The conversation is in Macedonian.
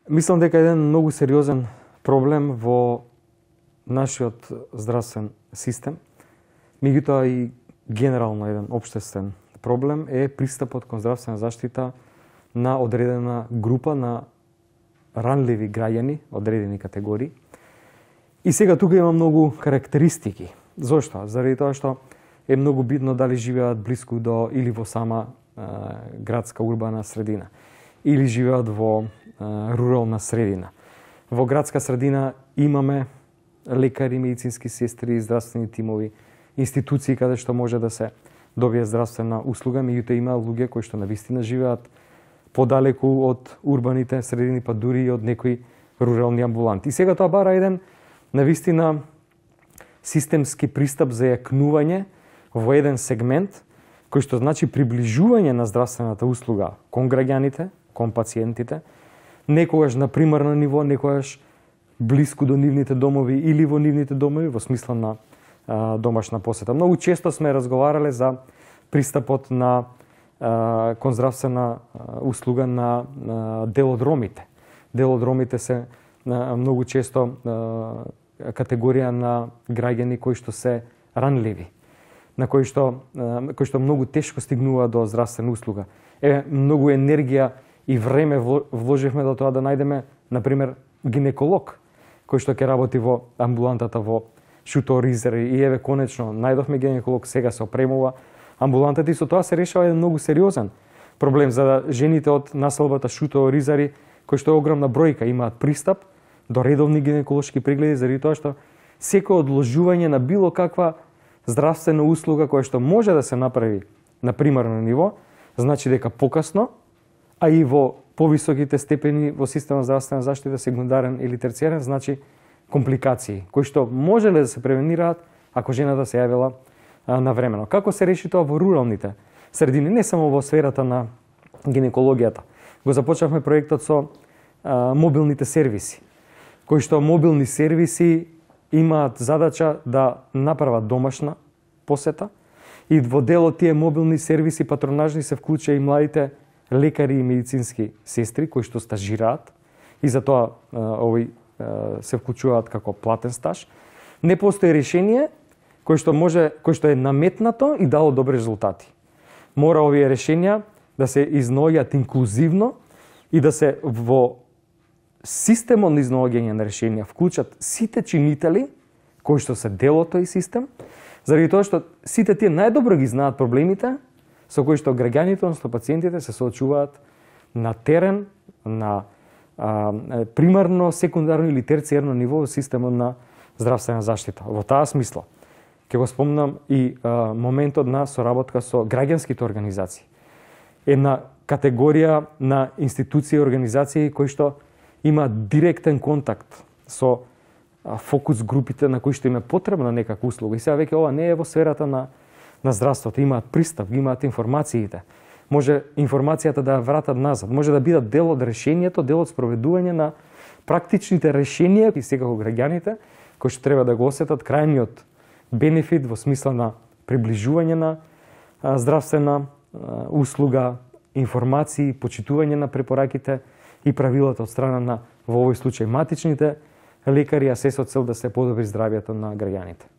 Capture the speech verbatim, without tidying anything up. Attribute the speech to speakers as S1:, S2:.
S1: Мислам дека еден многу сериозен проблем во нашиот здравствен систем, меѓутоа и генерално еден општествен проблем е пристапот кон здравствена заштита на одредена група на ранливи граѓани, одредени категории. И сега тука има многу карактеристики. Зошто? Заради тоа што е многу битно дали живеат блиску до или во сама е, градска урбана средина, или живеат во е, рурална средина. Во градска средина имаме лекари, медицински сестри, здравствени тимови, институции каде што може да се добие здравствена услуга, меѓутоа има луѓе кои што навистина живеат подалеку од урбаните средини, па дури и од некои рурални амбуланти. И сега тоа бара еден навистина системски пристап за јакнување во еден сегмент, кој што значи приближување на здравствената услуга кон граѓаните, кон пациентите, некогаш на примарно ниво, некогаш блиску до нивните домови или во нивните домови во смисла на а, домашна посета. Многу често сме разговарале за пристапот на а, кон здравствена а, услуга на, на делодромите. Делодромите се а, многу често а, категорија на граѓани кои што се ранливи, на кои што а, кои што многу тешко стигнуваат до здравствена услуга. Е многу енергија и време вложивме до тоа да најдеме, например, гинеколог кој што ќе работи во амбулантата во Шуто Оризари, и еве конечно најдовме гинеколог, сега се опремува амбулантата и со тоа се решава еден многу сериозен проблем за жените од населбата Шуто Оризари, кои што е огромна бројка, имаат пристап до редовни гинеколошки прегледи заради тоа што секој одложување на било каква здравствена услуга која што може да се направи на примарно ниво, значи дека покасно, а и во повисоките степени во системот здравствена заштита, секундарен или терцијарен, значи компликации, кои што можеле да се превенираат ако жената се јавила а, навремено. Како се реши тоа во руралните средини, не само во сферата на гинекологијата. Го започнавме проектот со а, мобилните сервиси, кои што мобилни сервиси имаат задача да направат домашна посета и во дел од тие мобилни сервиси патронажни се вклучува и младите лекари и медицински сестри кои што стажираат и за тоа овој се вклучуваат како платен стаж. Не постои решение кој што може, кој што е наметнато и дало добри резултати. Мора овие решенија да се изнаоѓаат инклузивно и да се во системот на изнаоѓање на решенија вклучат сите чинители кои што се дел од тој систем, заради тоа што сите тие најдобро ги знаат проблемите со кои што граѓаните, односно пациентите се соочуваат на терен, на а, примарно, секундарно или терцијарно ниво во системот на здравствена заштита. Во таа смисла ќе го спомнам и а, моментот на соработка со граѓанските организации. Една категорија на институции и организации кои што имаат директен контакт со а, фокус групите на кои што им е потребна некаква услуга. И сега веќе ова не е во сферата на на здравството, имаат пристап, имаат информациите. Може информацијата да ја вратат назад, може да бидат дел од решението, дел од спроведување на практичните решенија и секако граѓаните кои што треба да го осетат крајниот бенефит во смисла на приближување на а, здравствена а, услуга, информации, почитување на препораките и правилата од страна на, во овој случај, матичните лекари, а се со цел да се подобри здравјето на граѓаните.